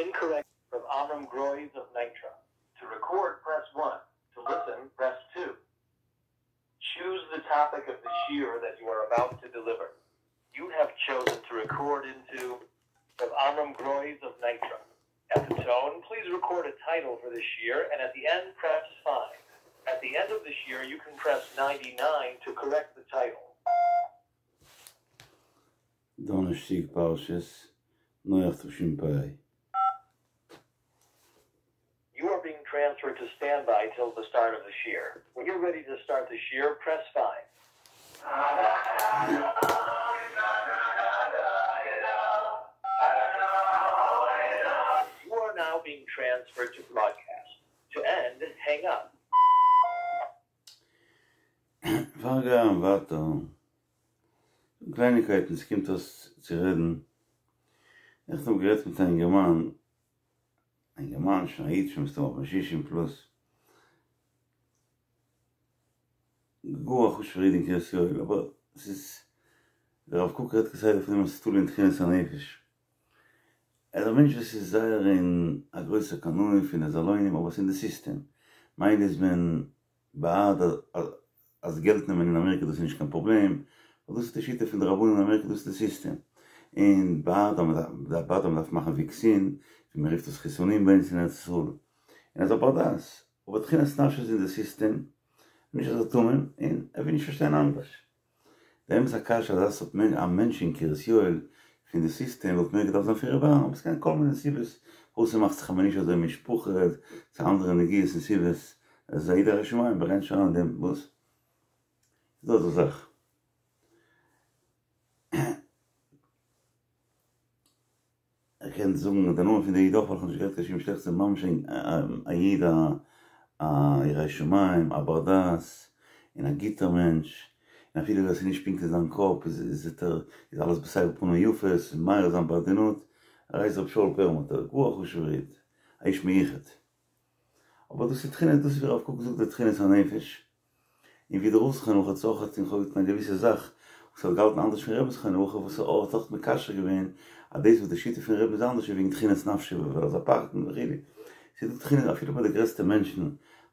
Incorrect. Rav Amram Groys of Nitra. To record, press 1. To listen, press 2. Choose the topic of the shiur that you are about to deliver. You have chosen to record into Rav Amram Groys of Nitra. At the tone, please record a title for the shiur, and at the end, press 5. At the end of the shiur, you can press 99 to correct the title. דאנערשטאג פרשת נח תשפ ה. You are being transferred to standby till the start of the shiur. When you're ready to start the shiur, press 5. You are now being transferred to broadcast. To end, hang up. פאר גיין ווייטער, קלייניקייטן ס'קומט אויס צו רעדן, נעכטן האב איך גערעדט מיט א אינגערמאן, א אינגערמאן שוין א איד שוין מסתמא אויף שישים פלוס, גאר א חשוב'ער איד אין קרית יואל, אבער ס'איז, דער רב קוק רעדט כסדר פון אים אז ס'איז תלוי אין תכונת הנפש, ער איז א מענטש וואס איז זייער אין א גרויסער קנאי פון די זאלוינים אבער ס'איז אין די סיסטעם, מילא איז מען בעד אז געלט נעמען אין אמעריקע דאס איז נישט קיין פראבלעם, ווייל דאס איז די שיטה פון די רבנים אין אמעריקע דאס איז די סיסטעם, און בעד אז בעד אז מ'דארף מאכן וואקסין, ווי מ'רופט עס חיסונים ביי אונז אין ארץ ישראל, און ער איז א בר דעת, אבער תכונת נפשו איז אין די סיסטעם, נישט אזא תמים, און ער וויל נישט פארשטיין אנדערש. די אמת א קשיא אז אזא סארט מענטש א מענטש אין קרית יואל פון די סיסטעם וואלט מער געדארפט זיין פון ר' אהרן אבער ס'קען כל מיני סיבות פארוואס ס'מאכט זיך אמאל נישט אזוי משפחה צו אנדערע נגיעות און סיבות עס איז א איד א ירא שמים ברענט נישט אריין אין דעם וואס איז דא אזא זאך. איך קען זאגן די נאמען פון די איד אויך ווייל איך האב נישט גערעדט קיין שום שלעכטס ס'איז ממש א איד א ירא שמים א בר דעת און א גוטער מענטש און אפילו ווען ס'איז נישט פונקט אין זיין קאפ איז איז ער איז אלעס בסבר פנים יפות און מאיר זיין בעדינות ער הייסט ר' שאול פערלמוטער גאר א חשובער איד א איש מיוחד אבער דאס איז תכונת דאס איז ווי הרב קוק זאגט די תכונת הנפש. און ווי דער רב זכרונו לברכה האט זיך אויך האט געטון א געוויסע זאך וואס ער האט געהאלטן אנדערש פון רבי'ן זכרונו לברכה וואס ער האט אויך מקשר געווען אז דאס וואס די שיטה פון רבי'ן איז אנדערש איז וועגן תכונת נפשו ווייל ער איז א פחדן וכו' ס'איז דא תכונות אפילו ביי די גרעסטע מענטשן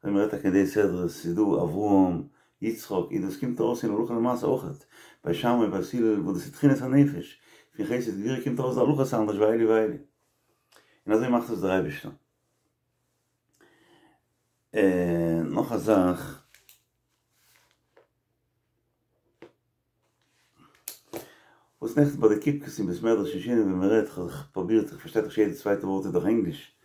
ווען מ'רעדט טאקע אין די סדרה ס'איז דא אברהם יצחק און דאס קומט ארויס אין הלכה למעשה אויך בית שמאי בית הלל וואס דאס איז תכונת הנפש פון חסד גבורה קומט ארויס די הלכה איז אנדערש ואלו ואלו און אזוי מאכט עס דער אייבערשטער. און נאך א זאך, וואס נעכטן ביי די קיפקעס אין בית מדרש אין שינאווע ווען מען רעדט, כ'האב זיך פרובירט, איך פארשטיי דאך יעדע צווייטע ווארט איז דאך ענגליש,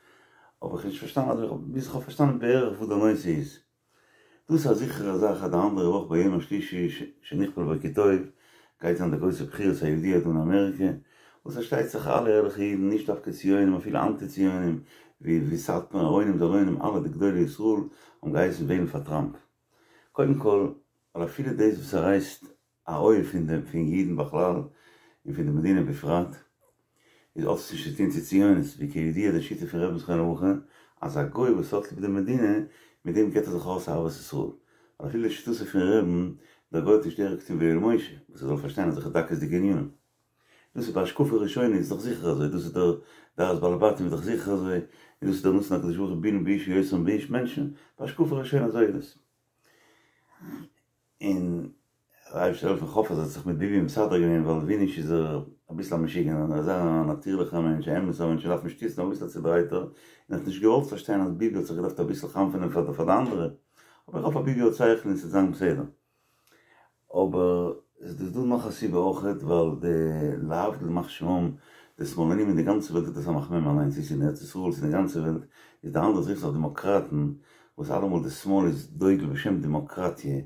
אבער כ'האב נישט פארשטאנען אזוי, ביז כ'האב פארשטאנען בערך וואס די נושא איז. דאס איז א זיכערע זאך אז די אנדערע וואך ביום השלישי שנכפל בו כי טוב גייט זיין די גרויסע בחירות הידוע דא אין אמעריקע, וואס פארשטייט זיך אלע ערליכע אידן נישט דווקא ציונים אפילו אנטי ציונים ווי ווי סאטמאר ארוינים זאלוינים אלע די גדולי ישראל האבן געהייסן וועלן פאר טראמפ קודם כל ווייל אפילו דאס וואס ער הייסט א אויב פון די פון אידן בכלל און פון די מדינה בפרט, איז האט עס נישט צו טון צו ציונות, ווי כידוע די שיטה פון רבי'ן זכרונו לברכה אז א גוי וואס האט ליב די מדינה מיט דעם געט ער זיך ארויס אהבת ישראל, ווייל אפילו לשיטתו פון רבי'ן, דער גוי האט נישט דרך געטון ויואל משה, וואס ער זאל פארשטיין אזעלכע דקות'דיגע ענינים. דאס איז בהשקפה ראשונה איז דאך זיכער אזוי, דאס איז דער דעת בעלי בתים איז דאך זיכער אזוי, און דאס איז דער נתן הקדוש ברוך הוא בינה באיש יותר מבאיש מענטשן, בהשקפה ראשונה אזוי איז עס. און דער אייבערשטער זאל העלפן איך האף אז ער האט זיך מיט ביבי מסדר געווען ווייל ווי נישט איז ער אביסל א משוגענער אזא נאטירליכער מענטש א אמת'ער מענטש מ'דארף אים שטיצן אביסל א צודרייטער און האט נישט געוואלט פארשטיין אז ביבי האט זיך געדארפט אביסל חנפענען פאר די אנדערע אבער איך האף אז ביבי האט שכל און ס'וועט זיין בסדר. אבער עס איז דא נאך א סיבה אויכעט ווייל די להבדיל ימח שמם די שמאלנים אין די גאנצע וועלט איז דאס א מחמם אליינס צו ס'איז אין ארץ ישראל צו אין די גאנצע וועלט איז די אנדערע זיך זיך דעמאקראטן וואס אלעמאל די שמאל איז דוגל בשם דעמאקראטיע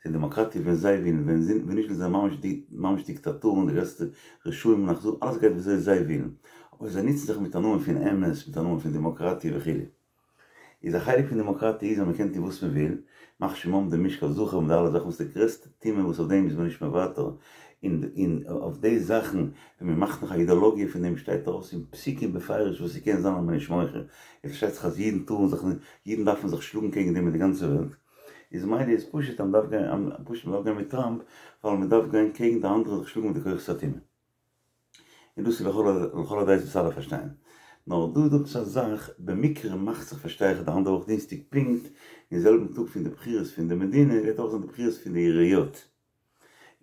ס'איז דעמאקראטיע ווען זיי ווילן ווען ווען נישט זענען זיי ממש די ממש דיקטאטורן די גרעסטע רשעים און אכזרים אלעס גייט וויאזוי זיי ווילן אבער זיי נוצן זיך מיט א נאמען פון אמת מיט א נאמען פון דעמאקראטיע וכו'. איז א חלק פון דעמאקראטיע איז אז מען קען טון וואס מען וויל, ימח שמם די משכב זכר און די אלע זאכן וואס די גרעסטע טומאה וואס אויף דעם איז מען נישט מוותר, און און אויף די זאכן ווען מען מאכט נאך א אידאלאגיע פון דעם שטייט ארויס אין פסוקים בפירוש וואס ס'קען זיין אז מען איז נישט מוחה, איז פארשטייט זיך אז אידן טארן זיך נישט, אידן דארפן זיך שלאגן קעגן דעם אין די גאנצע וועלט, איז מילא איז פשוט אז מען דארף גיין פשוט מען דארף גיין מיט טראמפ ווייל מען דארף גיין קעגן די אנדערע זיך שלאגן מיט די כוחות הטומאה. און דאס איז לכל לכל הדעות וואס אלע פארשטייען. נאר דא איז דא עפעס א זאך, במקרה מאכט זיך פארשטיי איך די אנדערע וואך דינסטאג פונקט אין זעלבן טאג פון די בחירות פון די מדינה גייט אויך זיין די בחירות פון די עיריות,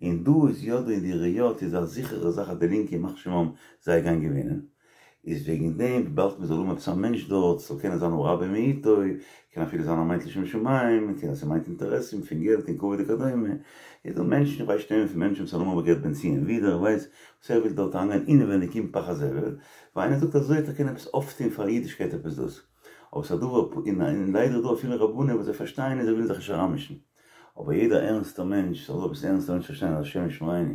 און דא איז יא דא אין די עיריות איז א זיכערע זאך אז די לינקע ימח שמם זיי גייען געווינען, איז וועגן דעם וויבאלד מען זאל האבן עפעס א מענטש דארט ס'זאל קענען זיין הרע במיעוטו, קען אפילו זיין אז מיינט לשם שמים, קען אז ס'מיינט אינטערעסן פון געלט און כבוד וכדומה, איז דא מענטשן איך ווייס שטימען פון מענטשן וואס האבן אמאל געהערט בן ציון ווידער איך ווייס וואס ער וויל דארט אריינגיין אינעווייניג אין פח הזבל, ווייל איינער זאגט אזוי וועט ער קענען עפעס אויפטוהן פאר אידישקייט עפעס דאס, אבער ס'איז א דבר און ליידער איז דא אפילו רבנים וואס זיי פארשטייען און זיי ווילן זיך נישט אריינמישן. אבער יעדער ערנסטער מענטש זאל עפעס ערנסטער מענטש פארשטיין אז השם ישמרינו,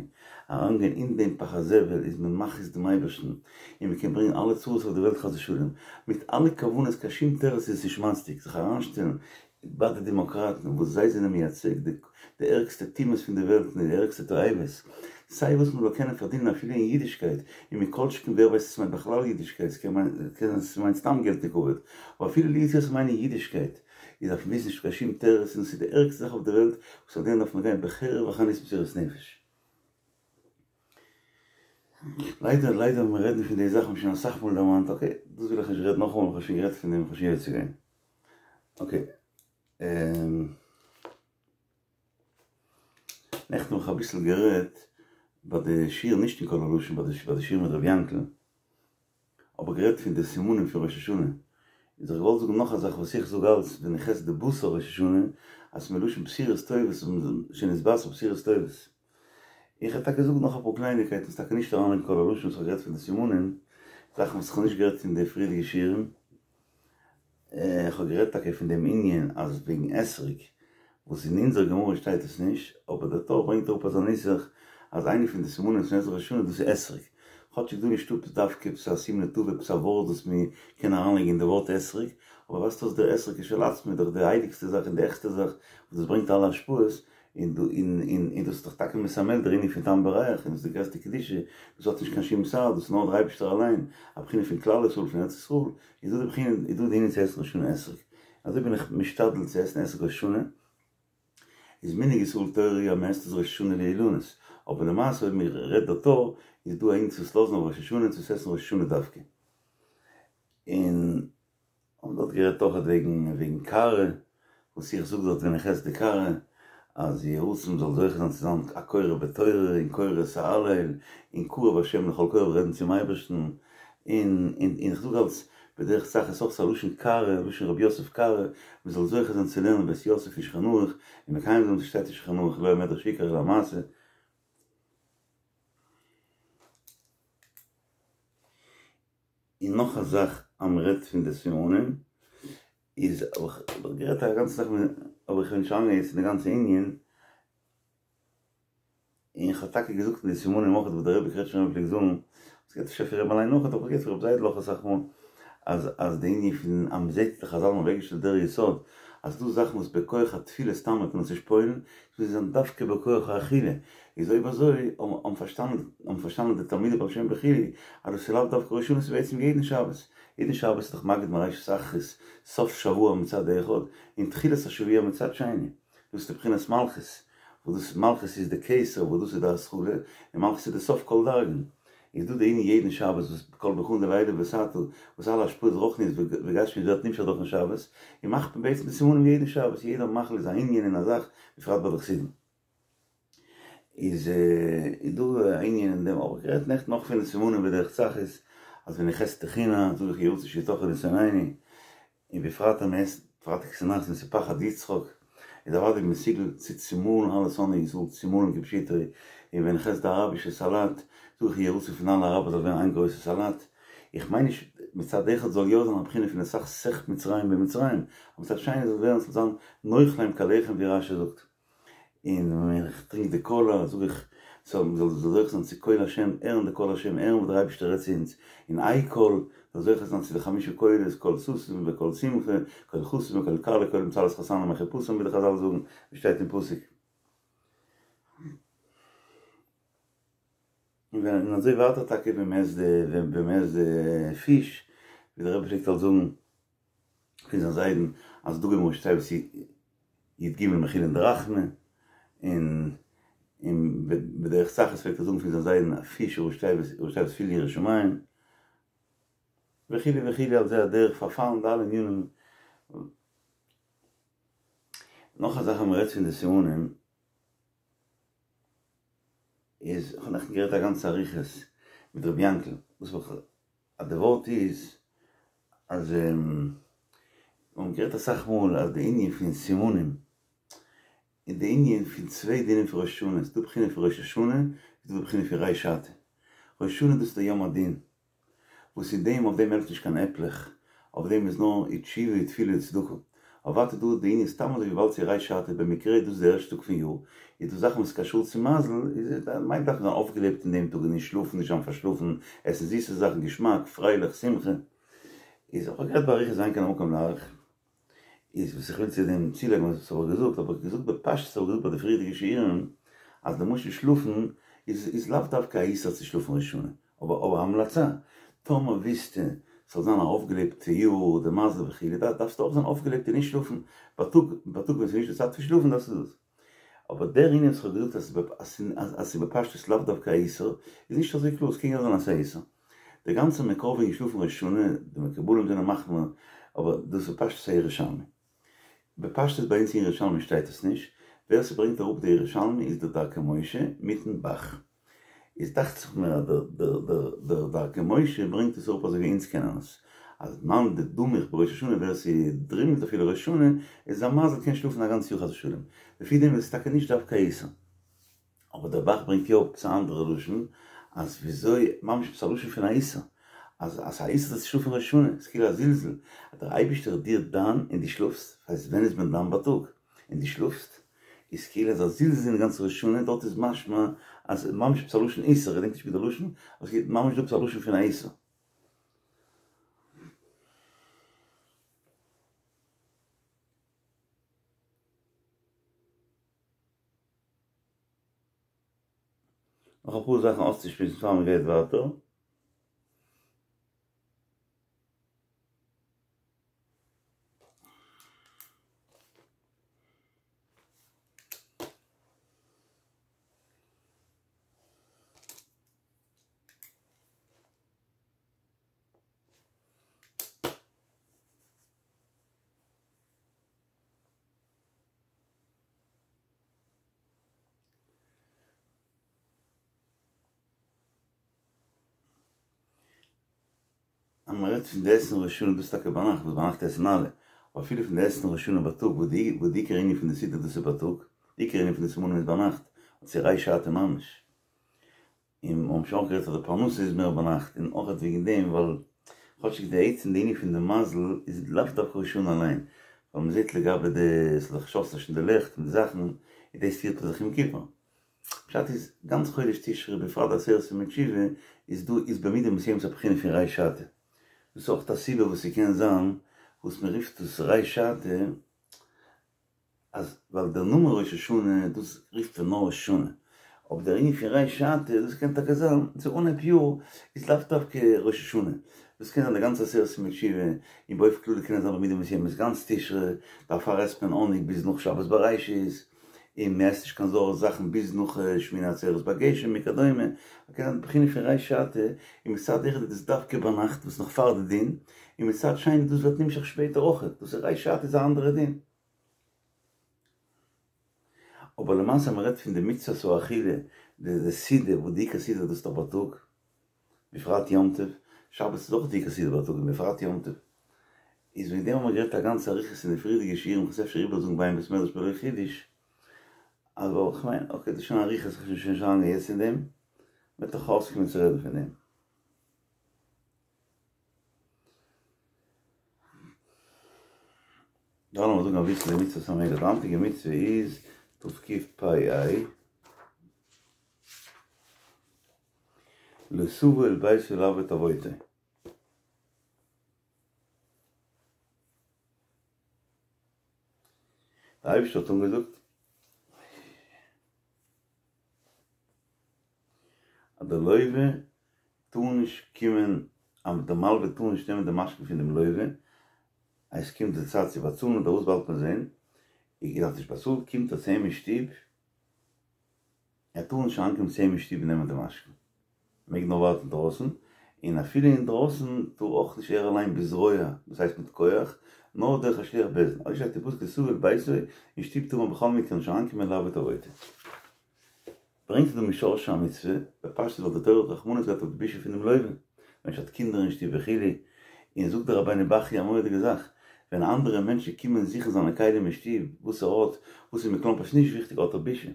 אריינגיין אין דעם פח הזבל איז מען מכעיס דעם אייבערשטן, און מען קען ברענגען אלע צרות אויף די וועלט חס ושלום, מיט אלע כוונות קיין שום תירוץ איז עס נישט מצדיק זיך אריינשטעלן ביי די דעמאקראטן וואס זיי זענען מייצג די די ערגסטע טומאות פון די וועלט און די ערגסטע תועבות, סיי וואס מען זאל קענען פארדינען אפילו אין אידישקייט, און מכל שכן ווער ווייסט צו ס'מיינט בכלל אידישקייט, ס'קען זיין ס'מיינט סתם געלט און כבוד, אבער אפילו לו יצוייר ס'מיינט אידישקייט. איז דארף מען וויסן נישט קיין שום תירוץ און עס איז די ערגסטע זאך אויף די וועלט וואס אויף דעם דארף מען גיין בחרב וחנית מסירות נפש. ליידער ליידער ווען מיר רעדן פון די זאכן האב איך שוין אסאך מאל דערמאנט אקעי דאס וויל איך נישט רעדן נאכאמאל איך האב שוין גערעדט פון דעם איך האב שוין יוצא געווען אקעי. נעכטן האב איך אביסל גערעדט ביי די שיעור נישט אין קול הלשון ביי די שיעור מיט ר' יענקל. האב איך גערעדט פון די סימנים פון ראש השנה, איז איך געוואלט זאגן נאך א זאך וואס איך זאג אלץ ווען איך עס די בשר ראש השנה, אז מלשון בשורות טובות שנתבשר בשורות טובות. איך וועל טאקע זאגן נאך אפאר קלייניקייטן וואס טאקע נישט אריין אין קול הלשון וואס איך האב גערעדט פון די סימנים, זאכן וואס איך האב נישט גערעדט אין די פריערדיגע שיעורים. איך האב גערעדט טאקע פון דעם ענין אז וועגן אתרוג, וואס אין אונזער גמרא שטייט עס נישט, אבער דער טור ברענגט אראפ אזא נוסח אז איינע פון די סימנים פון עזרא ראש השנה דאס איז אתרוג, כאטשיג דא נישטא עפעס דווקא עפעס א סימן לטובה עפעס א ווארט וואס מען קען אריינלייגן אין די ווארט אתרוג, אבער ווייזט אויס דער אתרוג כשלעצמו איז דאך די הייליגסטע זאך און די העכסטע זאך וואס דאס ברענגט אלע השפעות, און און דאס איז דאך טאקע מסמל דער ענין פון טעם וריח, און דאס איז די גרעסטע קדושה, דאס האט נישט קיין שום צד, דאס איז נאר דער אייבערשטער אליין, א בחינה פון כלל ישראל פון ארץ ישראל, איז דא די בחינה, איז דא די ענין צו עסן ראש השנה אתרוג. אזוי בין איך משתדל צו עסן אתרוג ראש השנה, איז מנהג ישראל תורה אז מען עסט עס ראש השנה לאילנות, אבער למעשה אויב מען רעדט דער טור, איז דא א ענין צו עס לאזן אויף ראש השנה און צו עס עסן ראש השנה דווקא. און האבן דארט גערעדט אויכעט וועגן וועגן קערה, וואס איך זאג דארט ווען איך עס די קערה, אז יהי רצון מ'זאל זוכה זיין צו זיין א קורא בתורה און קורא את ההלל, און קרוב השם לכל קוראיו רעדן צום אייבערשטן, און און איך זאג אלס בדרך צחות אויך ס'איז א לשון קערה, לשון רבי יוסף קארו, מ'זאל זוכה זיין צו לערנען בית יוסף אין שולחן ערוך, און מקיים זיין וואס שטייט אין שולחן ערוך לא המדרש עיקר אלא המעשה. און נאך א זאך אז מען רעדט פון די סימנים איז האב איך גערעדט א גאנצע זאך אבער איך וויל נישט אריינגיין יעצט אין די גאנצע ענין, און איך האב טאקע געזאגט אין די סימנים אויך וואס דער רבי קרעטשניפער פלעגט זאגן, עס גייט אפשר פון רבי אליין אויך אבער איך געהערט פון רבי זיידל אויך אסאך מאל, אז אז די ענין פון אז מען זעט די חזל האבן אוועקגעשטעלט דער יסוד אז ס'דא זאכן וואס בכח התפילה סתם קען מען עס נישט פועל'ן, עס מוז זיין דווקא בכח האכילה, איז אויב אזוי האבן פארשטאנען האבן פארשטאנען די תלמידי בעל שם וכו' אז דאס איז לאו דווקא ראש השנה ס'איז בעצם יעדן שבת, יעדן שבת איז דאך מגיד מראשית אחרית סוף שבוע מצד אחד און תחילת השבוע מצד שני, דאס איז די בחינת מלכות, וואס דאס מלכות איז די כתר וואס דאס איז די התחלה, און מלכות איז די סוף כל דרגין, איז דא די ענין יעדן שבת וואס כל ברכאן דלעילא ותתא וואס אלע השפעות רוחניות וגשמיות ווערט נמשך דורכן שבת, און מאכט מען בעצם די סימנים יעדן שבת, יעדער מאכל איז א ענין און א זאך, בפרט ביי די חסידים. איז איז דא א ענין אין דעם האב איך גערעדט נעכטן נאך פון די סימנים בדרך צחות אז ווען איך עס טחינה זאג איך יהי רצון שיטחנו שונאינו און בפרט אז מען עסט פרייטאג צונאכטס און ס'איז פחד יצחק איז אוודאי מסוגל צו צומאלן אלע שונאי ישראל צומאלן כפשוטו און ווען איך עס די אראבישע סאלאט זאג איך יהי רצון פון אלע אראבער זאל ווערן איין גרויסע סאלאט איך מיין נישט מצד אחד זאל יא זיין א בחינה פון לסכסך מצרים במצרים אבער מצד שני זאל ווערן ס'זאל זיין נאכלם כלחם ווי רשי זאגט. און ווען איך טרינק די קאלא זאג איך ס'זאל מ'זאל זוכה זיין צו קול השם, הערן די קול השם, הערן וואס דער אייבערשטער רעדט צו אונז, און איי קול, זאל זוכה זיין צו די חמשה קולות, קול ששון וקול שמחה, קול חתן וקול כלה, קול מצהלות חתנים מחופתם ווי די חזל זאגן, ווי שטייט אין פסוק. און ווען און אזוי ווייטער טאקע ווען מ'עסט די ווען מ'עסט די פיש, ווי דער רבי פלעגט אלס זאגן פון זיין זיידן אז דגים ראשי תיבות י"ג מכילין דרחמי, און און בדרך צחות פלעגט ער זאגן פון זיין זיידן אז פיש ראשי תיבות ראשי תיבות פיל יראת שמים. וכו' וכו' על זה הדרך פארפאלן די אלע ענינים. נאך א זאך אז מ'רעדט פון די סימנים איז, כ'האב נעכטן גערעדט א גאנצע אריכות מיט רבי יענקל, וואס האב איך אז די ווארט איז אז מיר האבן גערעדט אסאך מאל אז די ענין פון סימנים און די ענין פון צוויי דינים פון ראש השנה, ס'איז דא בחינה פון ראש השנה, ס'איז דא די בחינה פון ריש שעתא. ראש השנה דאס איז די יום הדין, וואס אין דעם אויף דעם העלפט נישט קיין עפלעך, אויף דעם איז נאר תשובה ותפילה וצדקה. אבער ווייטער דא די ענין סתם אזוי וויבאלד ס'איז ריש שעתא במקרה איז דאס די ערשטע טאג פון יאר, איז דא זאכן וואס איז קשור צו מזל, איז מיינט דארף מען זיין אויפגעלעבט אין דעם טאג און נישט שלאפן, נישט זיין פארשלאפן, עסן זיסע זאכן, געשמאק, פרייליך, שמחה. איז איך האב גערעדט באריכות אין כאן המקום להאריך. איז וואס איך וויל צו דעם צולייגן וואס האב איך געזאגט, האב איך געזאגט בפשטות האב איך געזאגט ביי די פריערדיגע שיעורים אז למשל שלאפן איז איז לאו דווקא א איסור צו שלאפן ראש השנה, אבער אבער א המלצה, טאמער ווילסטו ס'זאל זיין א אויפגעלעבטע יאר, די מזל וכו', דארפסטו אויך זיין אויפגעלעבט און נישט שלאפן בייטאג, בייטאג ווען ס'איז נישט די צייט פון שלאפן דארפסטו דאס. אבער דער ענין וואס איך האב געזאגט אז אז ס'איז בפשטות לאו דווקא א איסור, איז נישט אזוי קלאר, ס'קען יא זיין אז ס'איז א איסור. דער גאנצער מקור וועגן שלאפן ראש השנה, די מקובלים זענען מחמיר, אבער דאס איז בפשטות א ירושלמי. בפשטות ביי אונז אין ירושלמי שטייט עס נישט, ווער ס'ברענגט אראפ די ירושלמי איז דער דרכי משה מיטן ב"ח. איז דאכט זיך מיר אז דער דרכי משה ברענגט עס אראפ אזוי ווי אונז קענען עס, אז מאן דדמיך בראש השנה ווער ס'דרימלט אפילו ראש השנה איז זיין מזל קען שלאפן א גאנץ יאר חס ושלום, לפי דעם איז עס טאקע נישט דווקא א איסור. אבער דער ב"ח ברענגט יא עפעס א אנדערע לשון, אז וויאזוי, ממש עפעס א לשון פון א איסור, אז אז ס'איז א איסור צו שלאפן ראש השנה, ס'איז כאילו א זלזול, אז דער אייבערשטער איז דיר דן און דו שלאפסט, ס'הייסט ווען איז מען דן בייטאג? און דו שלאפסט? איז כאילו אזא זלזול אין גאנץ ראש השנה, דארט איז משמע אז ממש עפעס א לשון איסור, כ'געדענק נישט ווי די לשון, אבער ס'איז ממש דא עפעס א לשון פון א איסור. נאך אפאר זאכן אויסצושמועסן פאר מ'גייט ווייטער. אז מען רעדט פון די עסן ראש השנה דאס איז טאקע ביינאכט וואס ביינאכט עסן אלע, אבער אפילו פון די עסן ראש השנה בייטאג וואס די וואס די עיקר ענין פון די סעודה דאס איז בייטאג, די עיקר ענין פון די סימנים איז ביינאכט, און ס'איז ריש שעתא ממש. און מיר האבן שוין אויך גערעדט אז די פרנסה איז מער ביינאכט און אויך וועגן דעם ווייל כאטשיג די עצם די ענין פון די מזל איז לאו דווקא ראש השנה אליין, ווייל מען זעט לגבי די ס'איז דאך שאסט נישט אין די לעכט און די זאכן און דאס פירט מען זיך יום כיפור. פשט איז, גאנץ חודש תשרי בפרט די עשרת ימי תשובה איז דא איז במידה מסוימת א בחינה פון ריש שעתא. דאס איז אויך א סיבה וואס ס'קען זיין וואס מ'רופט עס ריש שעתא אז ווייל דער נאמען ראש השנה דאס רופט מען נאר ראש השנה, אבער דער ענין פון ריש שעתא דאס קען טאקע זיין צו אנהייב יאר איז לאו דווקא ראש השנה, דאס קען זיין די גאנצע עשרת ימי תשובה, און באופן כללי קען עס זיין במידה מסוימת גאנץ תשרי, דערפאר עסט מען האניג ביז נאך שבת בראשית, און מען עסט נישט קיין זויערע זאכן ביז נאך שמיני עצרת ביי גשם וכדומה, קען זיין די בחינה פון ריש שעתא, און מצד אחד איז דאס דווקא ביינאכט וואס נאך פאר די דין, און מצד שני דאס ווערט נמשך שפעטער אויך, דאס איז ריש שעתא איז א אנדערע דין. אבער למעשה אז מען רעדט פון די מצוות האכילה, די סעודה, וואס די עיקר סעודה דאס איז דאך בייטאג, בפרט יום טוב, שבת איז אויך די עיקר סעודה בייטאג און בפרט יום טוב, איז וועגן דעם האבן מיר גערעדט א גאנצע אריכות אין די פריערדיגע שיעורים, כ'וועל עס אפשר איבערזאגן ביי אין בית מדרש בלא חידוש, אבער כ'מיין, אקעי דאס איז שוין אריכות, כ'וועל שוין נישט אריינגיין יעצט אין דעם, מ'וועט דאך אויסקומען צו רעדן פון דעם. דא לאמיר זאגן אביסל די מצוות המלך, די היינטיגע מצוה איז תקפ"ה, לא תבוא אל ביתו לעבוד עבודתו. דער אייבערשטער האט אנגעזאגט אז דער לוה טאר נישט קומען, אז דער מלווה טאר נישט נעמען די משכון פון דעם לוה, אז עס קומט די צייט צו באצאלן אדער וואס באלד מען זען, ער האט נישט באצאלט, קומט ער צו אים אין שטוב, ער טאר נישט אריינקומען צו אים אין שטוב און נעמען די משכון, ער מעג נאר ווארטן דרויסן, און אפילו אינדרויסן טאר אויך נישט ער אליין בזרוע, דאס הייסט מיט כח, נאר דורך א שליח בית דין, אזוי שטייט אין פסוק לא תביא אל ביתו, אין שטוב טאר מען בכל מקרה נישט אריינקומען לעבוד עבודה. ברענגט ער דא משרשי המצוה, בפשטות ווייל די תורה האט רחמנות געהאט אויף די בושה פונעם לווה, מענטש האט קינדער אין שטוב וכו', און זאגט דער רבינו בחיי א מורא'דיגע זאך, ווען אנדערע מענטשן קומען זוכן זיינע כלים אין שטוב, וואס ער האט, וואס איז מכלומרשט נישט וויכטיג האט ער בושה,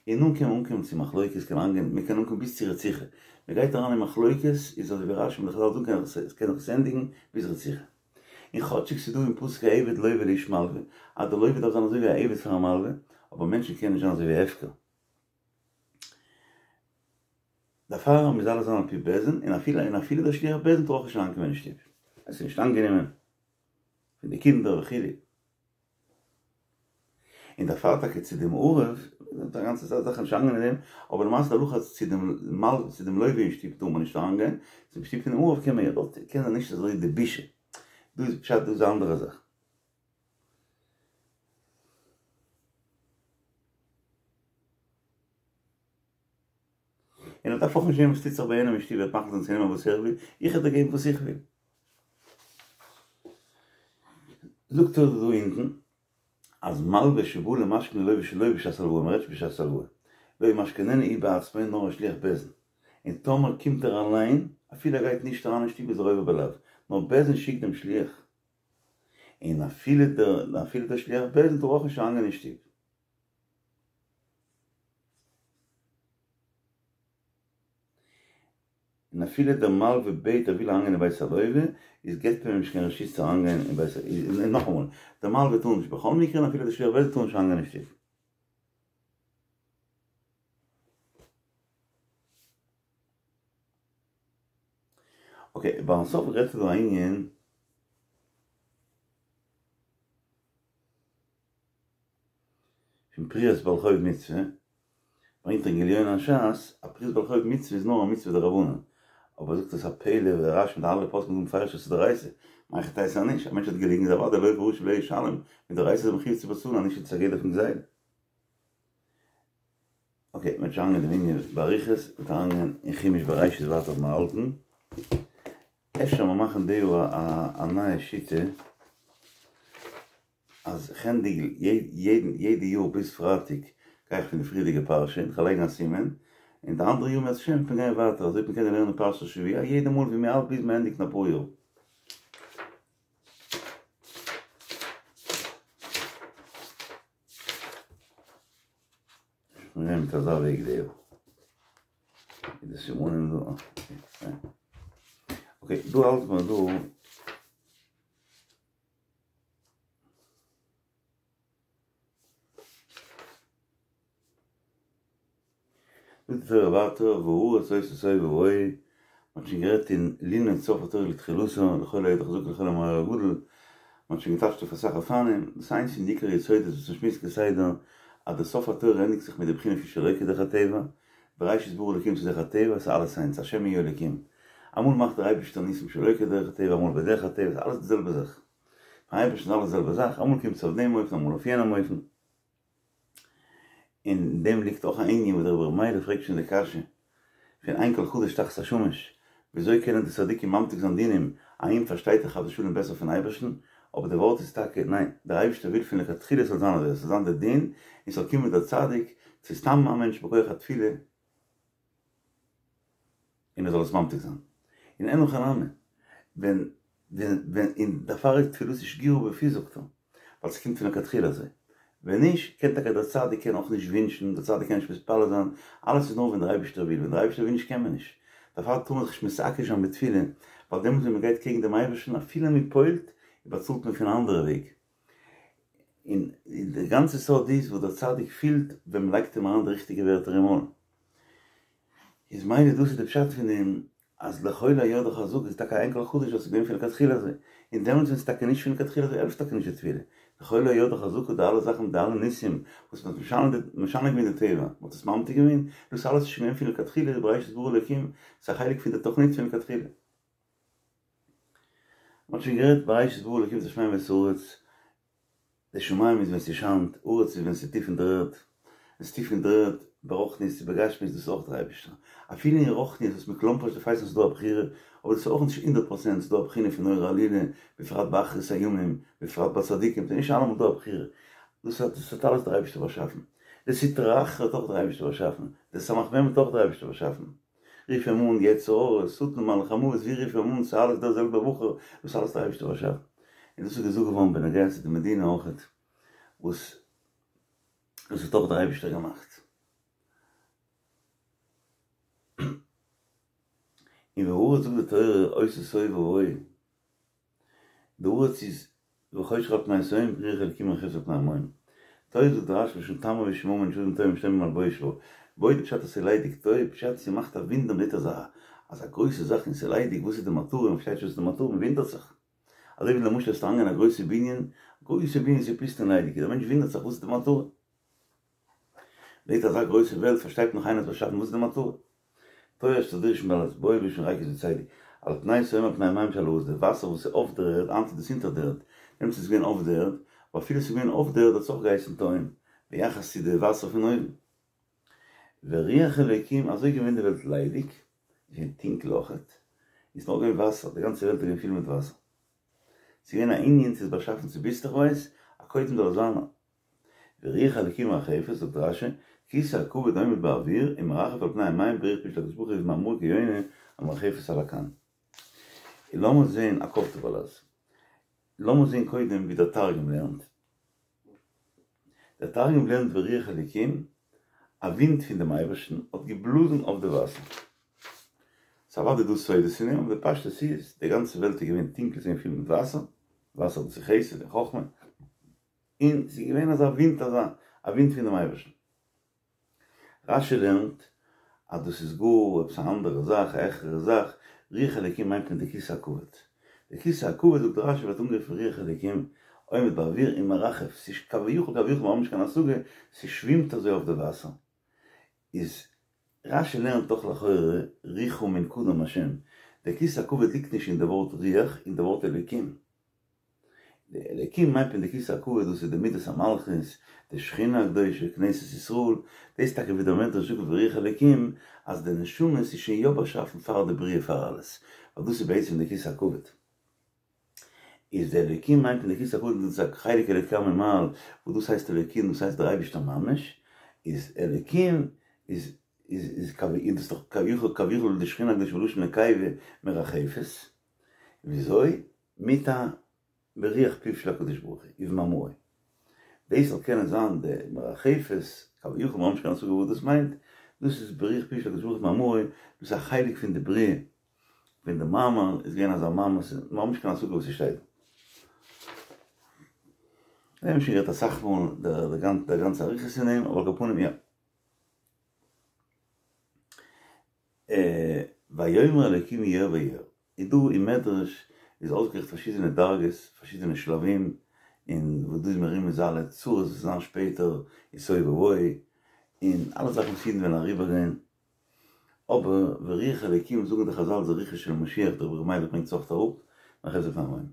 און נאן קען מען אנקומען צו מחלוקת, קען אנגיין, מען קען אנקומען ביז צו רציחה, מען גייט אריין אין מחלוקת, איז אזוי ווי רש"י און די חז"ל זאגן עס קען זיך עס ענדיגן ביז רציחה. און כאטשיג ס'איז דא אין פסוק עבד לוה לאיש מלוה, אז די לוה דארף זיין אזוי ווי א עבד פאר א מלוה, אבער מענטשן קענען נישט זיין אזוי ווי הפקר. דערפאר מוז אלעס זיין על פי בית דין, און אפילו און אפילו דער שליח בית דין טאר אויך נישט אריינקומען אין שטוב, עס איז נישט אנגענומען פון די קינדער וכו'. און דערפאר טאקע צו דעם ערב, די גאנצע זאך איז נישט אריינגיין אין דעם, אבער למעשה די הלכה אז צו דעם מל צו דעם לוה אין שטוב טאר מען נישט אריינגיין, צום שטוב פונעם ערב קען מען יא, דארט קען זיין נישט אזוי די בושה, דא איז פשט דא איז א אנדערע זאך. און ער דארף אויך נישט זען וואס טוט זיך ביי יענעם אין שטוב, ער וועט מחליט זיין צו נעמען וואס ער וויל, איך וועל דיר געבן וואס איך וויל. זאגט ער דא אונטן אז מלווה שבא למשכן ללווה שלא בשעת הלוואה, מען רעדט נישט בשעת הלוואה, לא ימשכננו הוא בעצמו נאר א שליח בית דין, און טאמער קומט ער אליין, אפילו ער גייט נישט אריין אין שטוב איז ער עובר בלאו, נאר בית דין שיקט דעם שליח, און אפילו דער אפילו דער שליח בית דין טאר אויך נישט אריינגיין אין שטוב. און אפילו דער מלווה בעט ער וויל אריינגיין אין בית הלווה, איז געבט מען אים נישט קיין רשות צו אריינגיין אין בית, און נאכאמאל, דער מלווה טאר נישט בכל מקרה און אפילו דער שליח בית דין טאר נישט אריינגיין אין שטוב. אקעי, ביים סוף רעדט ער דא א ענין. פון פריעת בעל חוב מצוה, ברענגט ער אין גליון הש"ס אז פריעת בעל חוב מצוה איז נאר א מצוה דרבנן, אבער זאגט עס א פלא ווי דער רש"י מיט אלע פוסקים זאגן מפרש אז ס'איז דאורייתא, מהיכי תיתי אז נישט, א מענטש האט געליגן איז אוודאי לוה רשע ולא ישלם, מדאורייתא איז ער מחויב צו באצאלן אז נישט איז עס א גדר פון גזילה. אקעי, מ'וועט שוין אריינגיין אין דעם ענין באריכות, מ'וועט אריינגיין אין חומש בראשית ווייטער וואו מיר האלטן. אפשר מיר מאכן די יאר א נייע שיטה אז כ'ענדיג יעדן יעדע יאר ביז פרייטאג גיי איך פון די פריערדיגע פרשה און כ'לייג א סימן, און די אנדערע יאר אם ירצה השם וועט מען גיין ווייטער אזוי וועט מען קענען לערנען פרשת השבוע יעדע מאל ווי מ'האלט ביז מ'ענדיגט אין אפאר יאר. מיר מיט אזא וועג די יאר. די סימנים דא. אקעי, דא האלט מען דא. זאגט די תורה ווייטער והארץ היתה תוהו ובוהו, מ'האט שוין גערעדט אין לנעוץ סוף התורה לתחילתה, לכל היד החזקה לכל המאור הגדול, מ'האט שוין געטייטשט אויף אסאך אופנים, דאס איז איינס פון די עיקר יסודות וואס מ'שמועסט כסדר, אז די סוף התורה ענדיגט זיך מיט די בחינה פון שלא כדרך הטבע, בראשית ברא אלקים ס'איז דרך הטבע, ס'איז אלעס איינס, השם הוא האלקים. אמאל מאכט דער אייבערשטער ניסים שלא כדרך הטבע, אמאל בדרך הטבע, ס'איז אלעס די זעלבע זאך. ביים אייבערשטן איז אלעס די זעלבע זאך, אמאל קומט עס אויף דעם אופן, אמאל אויף יענעם אופן. אין דעם ליגט אויך א ענין וואס דער רבי ר' מיילעך פרעגט שוין די קשיא פון אין כל חדש תחת השמש, וויאזוי קענען די צדיקים ממתיק זיין דינים, האם פארשטייט ער חס ושלום בעסער פון אייבערשטן, אבער די ווארט איז טאקע, ניין, דער אייבערשטער וויל פון לכתחילה ס'זאל זיין אזוי, עס זאל זיין די דין, און ס'זאל קומען דער צדיק, צו סתם א מענטש בכח התפילה, און ער זאל עס ממתיק זיין. און אין הכי נמי, ווען ווען ווען און דערפאר איז תפילתי שגורה בפי זאגט ער, ווייל ס'קומט פון לכתחילה אזוי. ווען נישט, קען טאקע דער צדיק קען אויך נישט ווינטשן, דער צדיק קען נישט מתפלל זיין, אלעס איז נאר ווען דער אייבערשטער וויל, ווען דער אייבערשטער וויל נישט קען מען נישט. דערפאר טאר מען זיך נישט מתעקש זיין בתפילה, ווייל דעמאלט ווען מען גייט קעגן דעם אייבערשטן אפילו מען פועל'ט, באצאלט מען פון א אנדערע וועג. און די גאנצע סוד איז וואס דער צדיק פילט ווען מען לייגט אים אריין די ריכטיגע ווערטער אין מויל. איז מילא דאס איז די פשט פון דעם אז לכל היד החזקה איז טאקע אין כל חדש וואס איז געווען פון לכתחילה אזוי, און דעמאלטס ווען ס'איז טאקע נישט פון לכתחילה אזוי העלפט טאקע נישט די תפילה, לכל היד החזקה די אלע זאכן די אלע ניסים וואס מ'האט משנה משנה געווען די טבע, מ'האט עס ממתיק געווען, דאס אלעס איז שוין געווען פון לכתחילה בראשית ברא אלקים, ס'איז א חלק פון די תוכנית פון לכתחילה. מ'האט שוין גערעדט בראשית ברא אלקים את השמים ואת הארץ, די שמים איז ווען ס'שיינט, ארץ איז ווען ס'איז טיף אין דער ערד, ווען ס'איז טיף אין דער ערד. ברוחניות צו בגשמיות דאס איז אויך דער אייבערשטער. אפילו אין רוחניות וואס מ'קלאמפערשט די פייסן ס'איז דא א בחירה, אבער דאס איז אויך נישט הונדערט פראצענט, ס'איז דא א בחינה פון נורא עלילה, בפרט באחרית הימים, בפרט ביי צדיקים, ס'איז נישט אלעמאל דא א בחירה. דאס האט דאס האט אלעס דער אייבערשטער באשאפן. די סטרא אחרא האט אויך דער אייבערשטער באשאפן. די סמך מם האט אויך דער אייבערשטער באשאפן. רוף אים אן יצר הרע, שטן, מלאך המוות, ווי רוף אים אן, ס'איז אלעס דער זעלבער בחור, דאס אלעס דער אייבערשטער באשאפן. און דאס איז געזאגט געווארן בנוגע צו די מדינה אויכעט, וואס דאס האט אויך דער אייבערשטער געמאכט. און והארץ זאגט די תורה היתה תוהו ובוהו, די ארץ איז וחושך על פני תהום ורוח אלקים מרחפת על פני המים. תוהו זאגט רש"י מלשון תמה ושממה שאדם תוהא ומשתומם על בוש בה. בוי די פשט אז ס'איז ליידיג תוהו פשט ס'מאכט א ווינדער מ'זעט אזא אזא גרויסע זאך און ס'איז ליידיג וואס איז די מטרה מ'פארשטייט נישט וואס איז די מטרה מ'ווינדערט זיך. אזוי ווי למשל וועסטו אריינגיין אין א גרויסע בנין, גרויסע בנין ס'איז פוסט און ליידיג, דער מענטש ווינדערט זיך וואס איז די מטרה. מ'זעט אזא גרויסע וועלט פארשטייט נאך איינער האט באשאפן וואס איז די מטרה. תוהו אשר דרשו בעל בוא לשון ריקות וצדי על פני תהום על פני מים שעל הארץ די וואסער וואס איז אויף דער ערד היינט איז דאס אונטער דער ערד דעמאלטס איז עס געווען אויף דער ערד אבער אפילו עס איז געווען אויף דער ערד האט עס אויך געהייסן תהום ביחס צו די וואסער פון אויבן. ורוח אלוקים אזוי געווען די וועלט ליידיג איז געווען טונקל אויכעט איז נאר געווען וואסער די גאנצע וועלט איז געווען פיל מיט וואסער ס'איז געווען א ענין ס'איז באשאפן צוביסלעכווייז א קודם זאל עס זיין ורוח אלקים מרחפת, זאגט רש"י, כסא הכבוד עומד באוויר ומרחף על פני המים ברוח פיו של הקדוש ברוך הוא ובמאמרו כיונה המרחפת על הקן. און לאמיר זעהן א קאפ טובעלאז. לאמיר זעהן קודם ווי דער תרגום לערנט. דער תרגום לערנט ורוח אלקים, א ווינט פון דעם אייבערשטן האט געבלאזן אויף די וואסער. ס'איז אוודאי דא סודות אין דעם, אבער די פשטות איז, די גאנצע וועלט איז געווען טונקל, ס'איז געווען פיל מיט וואסער, וואסער דאס איז חסד און חכמה, און ס'איז געווען אזא ווינט אזא א ווינט פון דעם אייבערשטן. רש"י לערנט אז דאס איז גאר עפעס א אנדערע זאך, א העכערע זאך, רוח אלוקים מיינט מען די כסא הכבוד. די כסא הכבוד זאגט רש"י ווערט אנגערופן רוח אלוקים עומד באוויר און מרחף, ס'איז כביכול כביכול מ'האט נישט קיין השגה, ס'שווימט אזוי אויף די וואסער. איז רש"י לערנט דאך לכאורה רוחא מן קדם השם, די כסא הכבוד ליגט נישט אין די ווארט רוח, אין די ווארט אלוקים. די אלוקים מיינט מען די כסא הכבוד דאס איז די מידת המלכות, די שכינה הקדושה, כנסת ישראל, דאס טאקע ווי דער מדרש זאגט ורוח אלוקים אז די נשמות איז שוין יא באשאפן פאר די בריאה פאר אלעס, ווייל דאס איז בעצם די כסא הכבוד. איז די אלוקים מיינט מען די כסא הכבוד דאס איז א חלק אלוקה ממעל וואס דאס הייסט אלוקים דאס הייסט דער אייבערשטער ממש, איז אלוקים איז איז איז איז דאס דאך כביכול כביכול די שכינה הקדושה בלשון נקבה מרחפת, וויאזוי? מיט א ברוח פיו של הקדוש ברוך הוא ובמאמרו. דאס זאל קענען זיין די מרחפת, כביכול מ'האט נישט קיין השגה וואס דאס מיינט, דאס איז ברוח פיו של הקדוש ברוך הוא ובמאמרו, דאס איז א חלק פון די בריאה, פון די מאמר איז געווען אזא מאמר, מ'האט נישט קיין השגה וואס ס'שטייט דא. מיר האבן שוין גערעדט אסאך מאל די גאנצע אריכות אין דעם, אבער על כל פנים יא. ויאמר אלוקים יהי אור ויהי אור. איז דא אין מדרש איז אויסגערעכנט פארשידענע דרגות, פארשידענע שלבים, און וואס דא איז מרומז אלע צרות וואס זיין שפעטער, און תוהו ובוהו, און אלע זאכן וואס אידן וועלן אריבערגיין, אבער ורוח אלוקים זאגן די חזל זה רוחו של משיח, דער רבי ר' מיילעך ברענגט עס אויך אראפ, מרחפת על פני המים.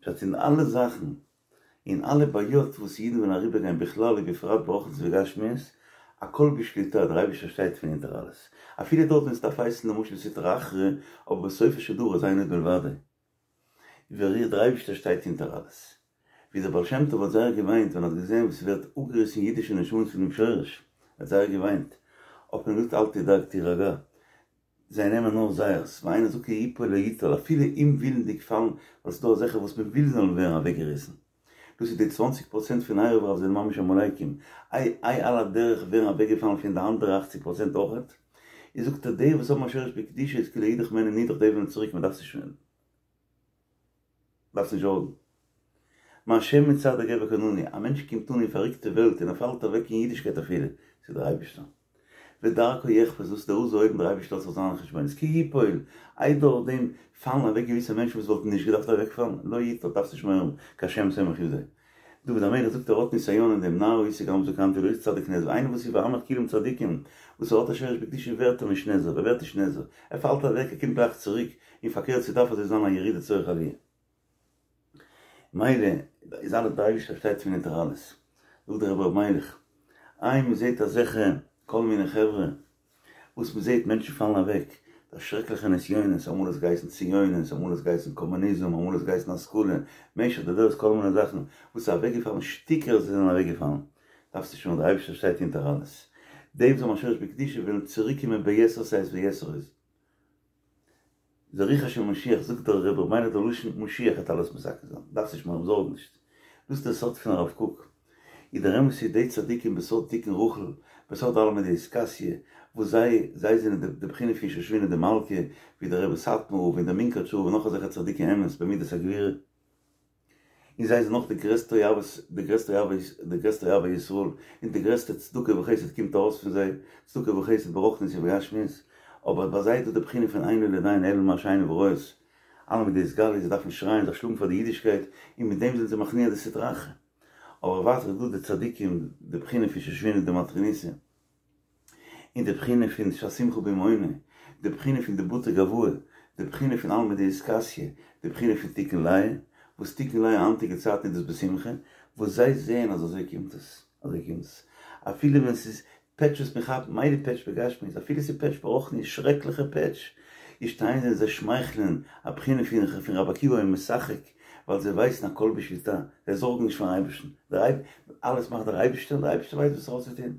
פשט אין אלע זאכן און אלע בעיות וואס אידן וועלן אריבערגיין בכלל ובפרט ברוחניות ובגשמיות, הכל בשליטה, דער אייבערשטער שטייט פון אונטער אלעס, אפילו דארט ווען ס'דארף הייסן למשל סטרא אחרא, אבער בסופו של דבר איז אין עוד מלבדו, ווער דער אייבערשטער שטייט אונטער אלעס. ווי דער בעל שם טוב האט זייער געוויינט ווען ער האט געזען ווי ס'ווערט אפגעריסן אידישע נשמות פונעם שורש, ער האט זייער געוויינט, האט מען געזאגט אל תדאג תירגע, זיי נעמען נאר זייערס, ואינו זכאי יפול לא יוטל, אפילו אומווילנדיג פאלן, ווייל ס'דא אזעלכע וואס מ'וויל זאלן ווערן אוועקגעריסן. דאס איז די צוואנציג פראצענט פון ערב רב זענען ממש עמלקים, איי איי על הדרך ווערן אוועקגעפאלן פון די אנדערע אכציג פראצענט אויכעט? איז זאגט ער די וואס האבן א שורש בקדושה איז כאילו אידך מעין נידך די וועלן צוריק מ'דארף זיך דארפסט נישט זארגן. מהשם מצעדי גבר כוננו, א מענטש קומט אן אין פארריקטע וועלט און ער פאלט אוועק אין אידישקייט אפילו, ס'איז דער אייבערשטער. ודרכו יחפץ, דאס איז דער עוז העולם דער אייבערשטער האט זיך זיינע חשבונות, כי יפול, איי דורך דעם פאלן אוועק געוויסע מענטשן וואס וואלטן נישט געדארפט אוועקפאלן, לא יוטל, דארפסט נישט מורא האבן, כי השם סומך ידו. דוד המלך זאגט ער האט נסיון אין דעם נער הייתי גם זקנתי ולא ראיתי צדיק נעזב, איינער וואס איז ועמך כולם צדיקים, וואס ער האט א שורש בקדושה ווערט ער נישט נעזב, ער ווערט נישט נעזב, ער פאלט אוועק ער קומט גלייך צוריק, און פארקערט ס'דארף אזוי זיין א ירידה צורך עליה. מילא איז אלעס דער אייבערשטער שטייט פון אונטער אלעס. זאגט דער רבי ר' מיילעך, איי מ'זעט אזעלכע. כל מיני חברה, וואס מען זעט מענטשן פאלן אוועק, די שרעקליכע נסיונות, אמאל האט עס געהייסן ציונות, אמאל האט עס געהייסן קאמוניזם, אמאל האט עס געהייסן השכלה, משך די דורות כל מיני זאכן, וואס איז אוועקגעפאלן, שטיקער זענען אוועקגעפאלן, דארפסט נישט מורא, דער אייבערשטער שטייט אונטער אלעס, די וואס האבן א שורש בקדושה וועלן צוריק קומען ביתר שאת ויתר עוז. זריחה של משיח זאגט דער רבי ר' מיילעך דער לשון משיח וועט אלעס מתקן זיין, דארפסט נישט מורא האבן זארג נישט, דאס איז דער סוד פון הרב קוק, איז דער אמת איז די צדיקים בסוד תיקון רחל, בסוד עלמא דאתכסיא, וואס זיי זיי זענען די די בחינה פון שושבינה דמלכא, ווי דער רבי סאטמאר רב און דער מונקאטשער רב און נאך אזעלכע צדיקי אמת במידת הגבורה. און זיי זענען נאך די גרעסטע אוהבות, די גרעסטע אוהבי, די גרעסטע אוהבי ישראל, און די גרעסטע צדקה וחסד קומט ארויס פון זיי, צדקה וחסד ברוחניות ובגשמיות, אבער ביי זיי איז דא די בחינה פון אין לו לדיין אלא מה שעיניו רואות, עלמא דאתגליא, זיי דארפן שרייען, זיך שלאגן פאר די אידישקייט, און מיט דעם זענען זיי מכניע די סטרא אחרא. אבער ווייטער איז דא די צדיקים, די בחינה פון שושבינה דמטרוניתא. און די בחינה פון ששמחה במעונו, די בחינה פון די בתי גואי, די בחינה פון עלמא דאתכסיא, די בחינה פון תיקון לאה, וואס תיקון לאה היינטיגע צייטן איז דאס בשמחה, וואס זיי זעען אז אזוי קומט עס, אזוי קומט עס, אפילו ווען ס'איז פעטש וואס מען כאפט, מילא פעטש בגשמיות, אפילו ס'איז פעטש ברוחניות, שרעקליכע פעטש, איז שטייען זיי און זיי שמייכלען, א בחינה פון פון רבי עקיבא היה משחק, ווייל זיי ווייסן הכל בשליטה, זיי זארגן נישט פארן אייבערשטן, דער אלעס מאכט דער אייבערשטער און דער אייבערשטער ווייסט וואס ער האט צו טון.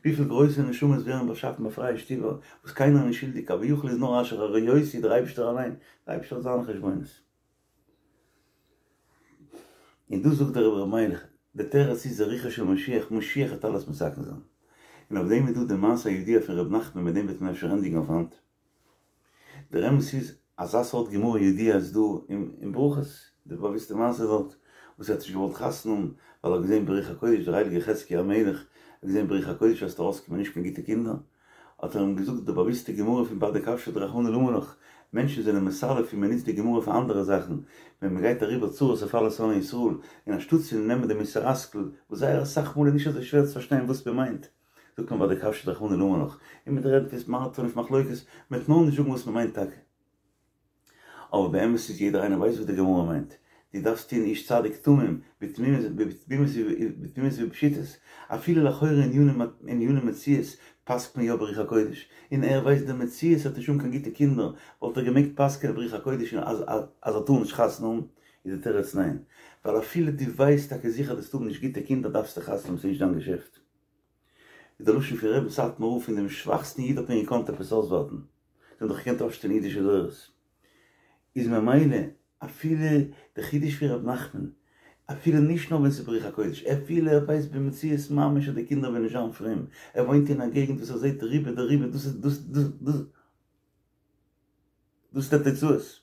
וויפיל גרויסע נשמות ווערן באשאפן ביי פרייע שטיבער וואס קיינער איז נישט שולדיג, כביכול איז נאר אשר הרעותי דער אייבערשטער אליין, דער אייבערשטער האט זיינע חשבונות. און דאס זאגט דער רבי ר' מיילעך, די תירוץ איז זריחה של משיח, משיח וועט אלעס מתקן זיין. און אויף דעם איז דא די מעשה הידוע פון ר' נחמן מיט דעם וועט מען אפשר ענדיגן אויף היינט. דער אמת איז, אזא סארט גמרא ידועה איז דא אין ברכות, די באוויסטע מעשה דארט, וואס ער האט נישט געוואלט חתונה האבן, ווייל ער האט געזען ברוח הקודש, דער הייליגער חזקיה המלך האט געזען ברוח הקודש אז ס'וועט ארויסקומען נישט קיין גוטע קינדער, האט ער אים געזאגט די באוויסטע גמרא פון באדי כבשי דרחמנא למה לך, מענטשן זענען מסלף און מען נוצט די גמרא פאר אנדערע זאכן, ווען מען גייט אריבער צרות אויף אלע שונאי ישראל, און אנשטאט צו נעמען די מוסר השכל, וואס זייער אסאך מאל איז נישט אזוי שווער צו פארשטיין וואס מען מיינט, זאגט מען באדי כבשי דרחמנא למה לך, און מ'וועט רעדן פון סמארטפאון און פון מחלוקת, מ'וועט נאר נישט זאגן וואס מ'מיינט טאקע. אבער באמת איז יעדער איינער ווייסט וואס די גמרא מיינט, דו דארפסט טון איש צדיק תמים, בתמימות ובפשיטות, אפילו לכאורה עניני מציאות פסק'ט מען יא ברוח הקודש, און ער ווייסט די מציאות ער וועט נישט האבן קיין גוטע קינדער, וואלט ער געמעגט פסק'ענען ברוח הקודש אז ער טאר נישט חתונה האבן, איז די תירוץ ניין, ווייל אפילו דו ווייסט טאקע זיכער דו'סט האבן נישט גוטע קינדער דארפסטו חתונה האבן ס'איז נישט דיין געשעפט. איז דער לשון פון רבי'ן סאטמאר רב פון דעם שוואכסטן איד האט מען געקאנט עפעס אויסווארטן, זיי האבן דאך געקענט אויפשטעלן אידישע דורות, איז ממילא אפילו די חידוש פון ר' נחמן, אפילו נישט נאר ווען ס'איז ברוח הקודש, אפילו ער ווייסט במציאות ממש אז די קינדער וועלן נישט זיין פרום, ער וואוינט אין א געגנט וואס ער זעט רובא דרובא דאס איז דאס דאס דאס. דאס איז די תוצאות.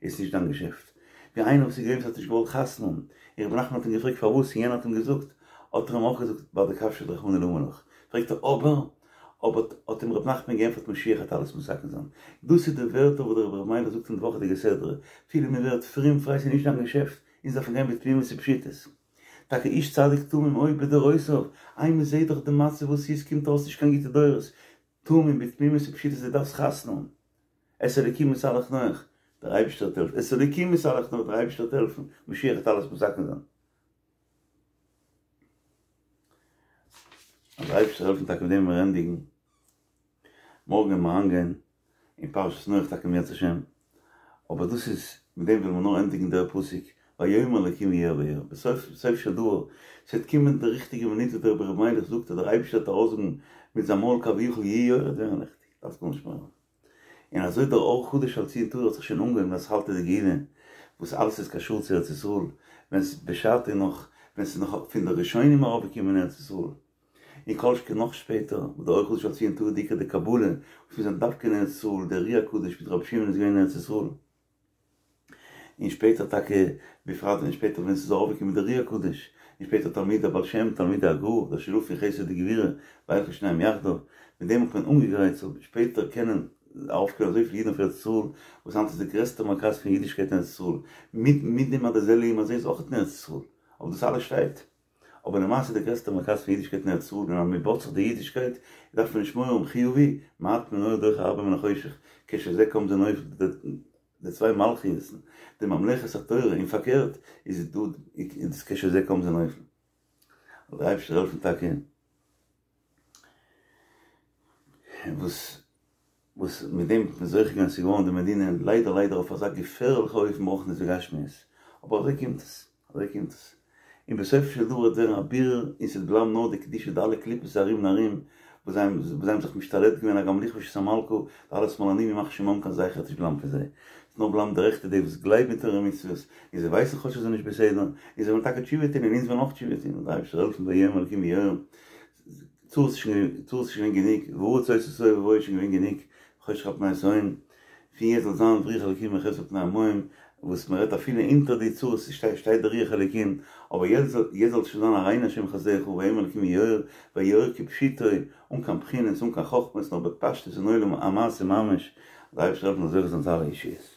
איז נישט דיין געשעפט. ווי איינער וואס איז געווען וואס האט נישט געוואלט חתונה האבן, און רבי נחמן האט אים געפרעגט פארוואס און יענער האט אים געזאגט, האט ער אים אויך געזאגט באדי כבשי דרחמנא למה לך. פרעגט ער אבער, אבער האט אים רבי נחמן געענטפערט משיח וועט אלעס מתקן זיין. דאס איז די ווערטער וואס דער רבי ר' מיילעך זאגט אין די וואכעדיגע סדרה, אפילו מען ווערט פרום פריי ס'איז נישט דיין געשעפט, אונז דארפן גיין בתמימות ופשיטות. טאקע איש צדיק תמים אויך בדורותיו, איי מען זעט דאך די מצב וואס איז קומט אויס נישט קיין גוטע דורות, תמים בתמימות ופשיטות דו דארפסט חתונה האבן, את האלקים התהלך נח, דער אייבערשטער וועט העלפן, את האלקים התהלך נח, דער אייבערשטער וועט העלפן, משיח וועט אלעס מתקן זיין. אז דער אייבערשטער זאל העלפן טאקע מיט דעם וועלן מיר ענדיגן, מארגן וועלן מיר אריינגיין אין פרשת נח טאקע אם ירצה השם, אבער דאס איז, מיט דעם ווילן מיר נאר ענדיגן דער פסוק, ויאמר אלקים יהי אור ויהי אור, בסוף סוף של דבר, ס'וועט קומען די ריכטיגע מינוט וואס דער רבי ר' מיילעך זאגט אז דער אייבערשטער וועט ארויסזאגן מיט זיין מויל כביכול יהי אור וועט ווערן ליכטיג, דארפסט גארנישט מורא האבן. און אזוי דער אור חדש על ציון תאיר האט זיך שוין אנגעהויבן אתחלתא דגאולה, וואס אלעס איז קשור צו ארץ ישראל, ווען ס'איז בשעתו נאך, ווען ס'איז נאך פון די ראשונים ארויפגעקומען אין ארץ ישראל, און כל שכן נאך שפעטער, וואס דער אור חדש על ציון תאיר די עיקר די קבלה, וואס מיר זענען דווקא אין ארץ ישראל, דער אר"י הקדוש מיט רבי שמעון איז געווען אין ארץ ישראל, און שפעטער טאקע, בפרט ווען שפעטער ווען ס'איז ארויפגעקומען דער אר"י הקדוש, און שפעטער תלמידי הבעל שם, תלמידי הגר"א, דער שילוב פון חסד וגבורה, וילכו שניהם יחדיו, מיט דעם האט מען אנגעגרייט ס'זאל שפעטער קענען ארויפקומען אזויפיל אידן אויף ארץ ישראל, וואס היינט איז די גרעסטע מרכז פון אידישקייט אין ארץ ישראל, מיט מיט דעם אז די זה לעומת זה איז אויך אין ארץ ישראל, אבער דאס אלעס שטייט. אבער למעשה די גרעסטע מרכז פון אידישקייט אין ארץ ישראל און אז מען בויט זיך די אידישקייט דארף מען נישט מורא האבן חיובי מעט מן האור דוחה הרבה מן החושך כשזה קם זה נופל די צוויי מלכיות'ן די ממלכת התורה און פארקערט איז דא איז כשזה קם זה נופל זאל דער אייבערשטער העלפן טאקע. וואס וואס מיט דעם האט מען זוכה געווען ס'איז געווארן די מדינה, ליידער ליידער אויף אזא געפערליכע אופן ברוחניות וגשמיות, אבער אזוי קומט עס, אזוי קומט עס, און בסופו של דבר וועט ווערן א בירור און ס'וועט בלייבן נאר די קדושה די אלע קליפות ארום און ארום וואס זיי האבן וואס זיי האבן זיך משתלט געווען הגם לכבוש את המלכה, די אלע שמאלנים ימח שמם קיין זכר וועט נישט בלייבן פון זיי, ס'וועט נאר בלייבן די רעכטע די וואס גלייבן אין תורה ומצוות, און זיי ווייסן כאטש אז ס'איז נישט בסדר, און זיי וועלן טאקע תשובה טון און אונז וועלן אויך תשובה טון, זאל דער אייבערשטער העלפן ויאמר אלקים יהי אור. צרות איז שוין צרות איז שוין געווען גענוג, והארץ היתה תוהו ובוהו איז שוין געווען גענוג, חושך על פני תהום, פון יעצט זאל זיין ורוח אלקים מרחפת על פני המים, וואס מען רעדט אפילו אונטער די צרות שטייט שטייט דער רוח אלקים, אבער יעצט זאל יעצט זאל שוין זיין הראנו השם חסדך ויאמר אלקים יהי אור, ויהי אור כפשוטו, אן קיין בחינות אן קיין חכמות נאר בפשטות אין עולם המעשה ממש, זאל דער אייבערשטער העלפן מ'זאל זוכה זיין צו אלע ישועות.